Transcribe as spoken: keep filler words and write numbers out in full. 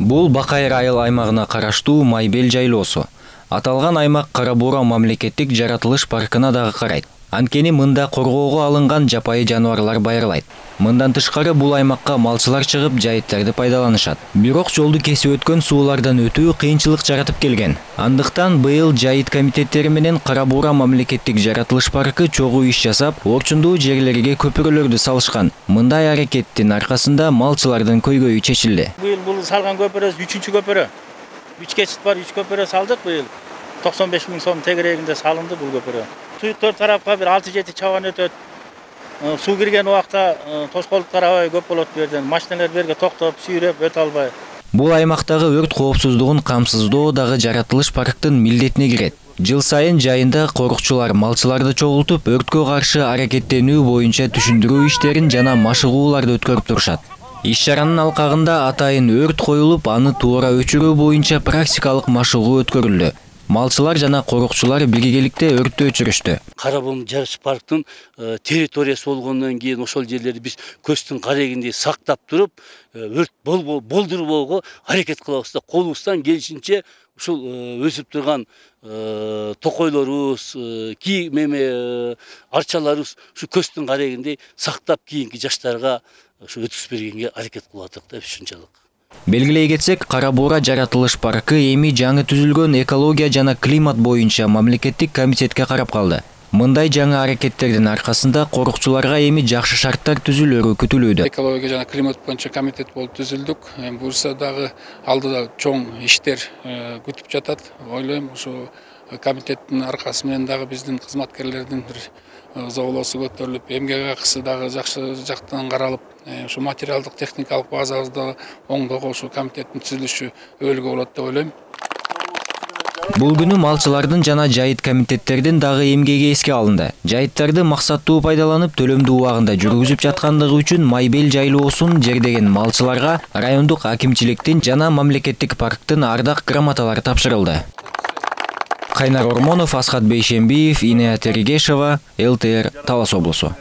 Бул Бакайыр айыл аймагына караштуу Майбел жайлоосу. Аталган аймак Кара Буура мамлекеттик жаратылыш паркына дагы карайт. Анткени мында коргоого алынган жапайы жаныбарлар байырлайт. Мындан тышкары бул аймакка малчылар чыгып жайыттарды пайдаланышат. Бирок жолду кесип өткөн суулардан өтүү кыйынчылык жаратып келген. Андыктан быйыл жайыт комитеттери менен Кара Буура мамлекеттик жаратылыш паркы чогуу иш жасап, орчундуу жерлерге көпүрөлөрдү салышкан. Мындай аракеттин аркасында малчылардын көйгөйү чечилди. Быйыл бул салган көпүрө үчүнчү көпүрө. үч кечит бар, үч көпүрө салдык быйыл. токсон беш миң сом тегерегинде салынды бул көпүрө. Туюктор тарапка бир алты жети чабан өтөт. Суу кирген убакта тоскоолдуктар аябай көп болот бу жерден. Машиналар берге токтоп, сүйрөп өтө албай. Бул аймактагы өрт коопсуздугун камсыздоо дагы жаратылыш парктын милдетине кирет. Жыл сайын жайында корукчулар малчыларды чогултуп, өрткө каршы аракеттенүү боюнча түшүндүрүү иштерин жана машыгууларды өткөрүп турушат. Иш чаранын алкагында атайын өрт коюлуп, аны туура өчүрүү боюнча практикалык машыгуу өткөрүлдү. Малчылар жана корукчулар биргеликте өрттү өчүрүштү. Кара Буура жаратылыш парктын территориясы болгондон кийин ошол жерлерди биз көздүн карегиндей сактап туруп, өрт болдурбоого аракет кылабыз да, колубуздан келишинче ушул өсүп турган токойлорубуз, ки меме арчаларыбыз ушу көздүн карегиндей сактап кийинки жаштарга ушу өткүзүп бергенге аракет кылып атык да ушунчалык. Белгилей кетсек, Кара Буура жаратылыш паркы эми жаңы түзүлгөн экология жана климат боюнча мамлекеттик комитетке карап калды. Мындай жаңы аракеттердин аркасында корукчуларга эми жакшы шарттар түзүлөрү күтүлүүдө. Экология жана климат боюнча комитет болуп түзүлдүк. Буюрса дагы алдыда чоң иштер күтүп жатат. Ойлойм, ушу комитеттин аркасы менен дагы биздин кызматкерлердин бир зоолоосу көтөрүлүп, эмгек акысы дагы жакшы жактан каралып, ушу материалдык техникалык базабызды оңдоого ушу комитеттин түзүлүшү өбөлгө болот деп ойлойм. Бул күнү малчылардын жана жайыт комитеттердин дагы эмгеги эске алынды. Жайыттарды максаттуу пайдаланып, төлөмдүү убагында жүргүзүп жаткандыгы үчүн Майбел жайлоосун жердеген малчыларга райондук акимчиликтин жана мамлекеттик парктын ардак грамоталары тапшырылды. Кайнар Ормонов, Асхат Бейшембиев, Инея Теригешова, эл тэ эр Талас облусу.